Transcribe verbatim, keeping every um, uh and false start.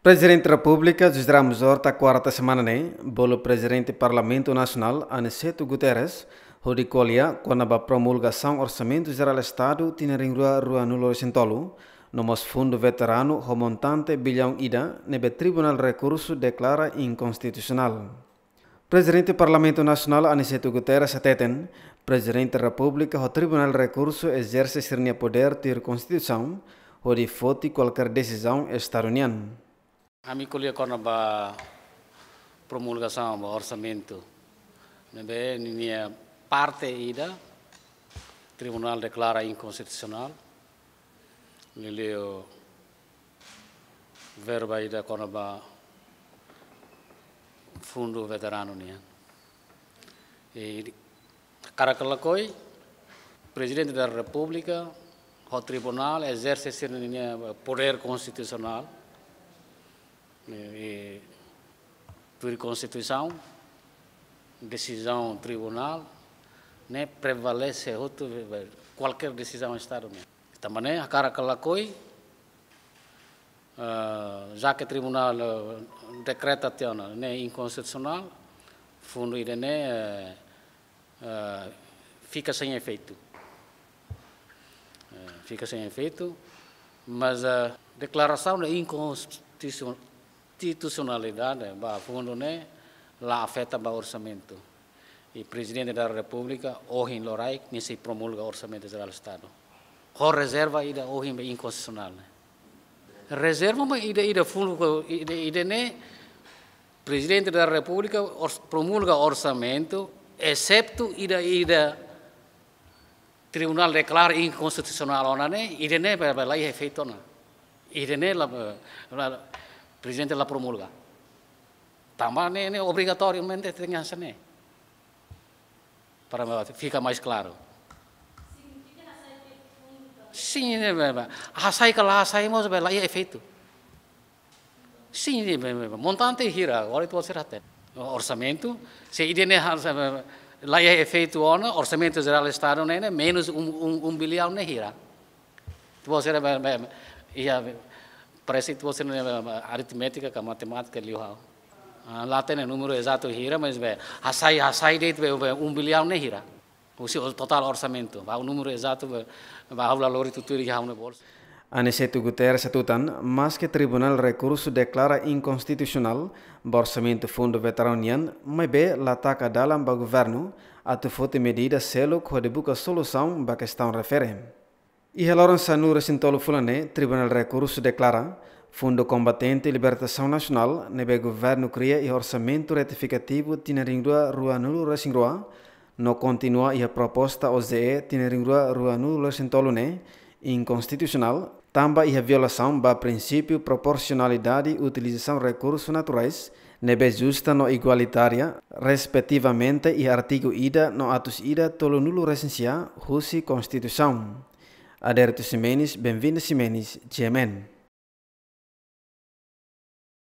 Prezidente Repúblika José Ramos Horta, kuarta semana ne'e, bolu Prezidente Parlamentu Nasionál Aniceto Guterres hodi ko'alia kona-ba promulgasaun Orsamentu Jerál Estadu tinan rihun rua ruanulu-resin-tolu, no mós fundu veteranu ho montante billaun ida ne'ebé Tribunál Rekursu deklara inkonstitusionál. Prezidente Parlamentu Nasionál Aniceto Guterres hateten, Prezidente Repúblika ho Tribunál Rekursu ezerse sira-nia podér tuir Konstituisaun hodi foti kualkér desizaun Estadu nian. Ami ko'alia kona-ba promulgasaun ba orsamentu ne'ebé ninia parte ida Tribunál deklara inkonstitusionál, liuliu verba ida kona-ba fundu veteranu nian. I hakarak lakohi, Prezidente da Repúblika ho Tribunál ezerse sira-nia podér konstitusionál, i, i tuir Konstituisaun, desizaun Tribunál ne'e prevalese hotu kualkér desizaun Estadu nian. Tanba ne'e hakarak lakohi, eh, já que Tribunál, eh, dekreta tiha ona ne'e inkonstitusionál, fundu ida-ne'e, eh, eh, fika sein efeitu. Eh, fika sein efeitu, mas, eh, deklarasaun de inkonstitusionalidade ba fundu ne'e la afeta ba orsamentu. I Prezidente da Repúblika ohin loraik nia sei promulga Orsamentu Jerál Estadu ho rezerva ida ohin be inkonstitusionál ne'e. Rezerva mak ida, ida fundu ko ida, ida-ne'e Prezidente da Repúblika ors-, promulga orsamentu, exetu ida, ida Tribunál deklara inkonstitusionál ona ne'e, ida-ne'e be, be la iha efeitu ona. Ida-ne'e la, la, Prezidente la promulga. Tanba ne'e, ne'e obrigatoriamente tenke hanesan ne'e. Para fika mais klaru. Sin, ne'e be, be. Hasai ka la hasai mós be la iha efeitu. Sin, ne'e be, be, be. Montante hira, agora ita sira hatene. Orsamentu, se ida-ne'e ha-, se, be, be, la iha efeitu ona, Orsamentu Jerál Estadu ne'e, ne'e menus um, um, um bilhão ne'e hira. Ita sira be, be, be, iha, be, parese ita sira ne'e, be, be, aritmétika ka matemátika liu ha'u. Ah, la hatene númeru ezatu hira, mas be, hasai, hasai de'it be, be, um bilhão ne'e hira. Husi o-, totál orsamentu, ba númeru ezatu be, ba ha'u la lori tutuir iha ha'u-nia bolsu. Aniceto Guterres hatutan, maske Tribunál Rekursu deklara inkonstitusionál ba orsamentu fundu veteranu nian, maibé la taka dalan ba governu atu foti medida seluk hodi buka solusaun ba kestaun refere. Iha loron sanulu-resin-tolu fulan ne'e, Tribunál Rekursu deklara fundu kombatente libertasaun nasionál ne'ebé governu kria iha orsamentu retifikativu tinan rihun rua ruanulu-resin-rua, no kontinua iha proposta O J E tinan rihun rua ruanulu-resin-tolu ne'e inkonstitusionál, tanba iha violasaun ba prinsípiu proporsionalidade utilizasaun rekursu naturais ne'ebé justa no igualitária, respetivamente iha artigu ida no atus ida tolunulu-resin-sia husi Konstituisaun. Aderito Ximenes, Benvinda Ximenes, G M N.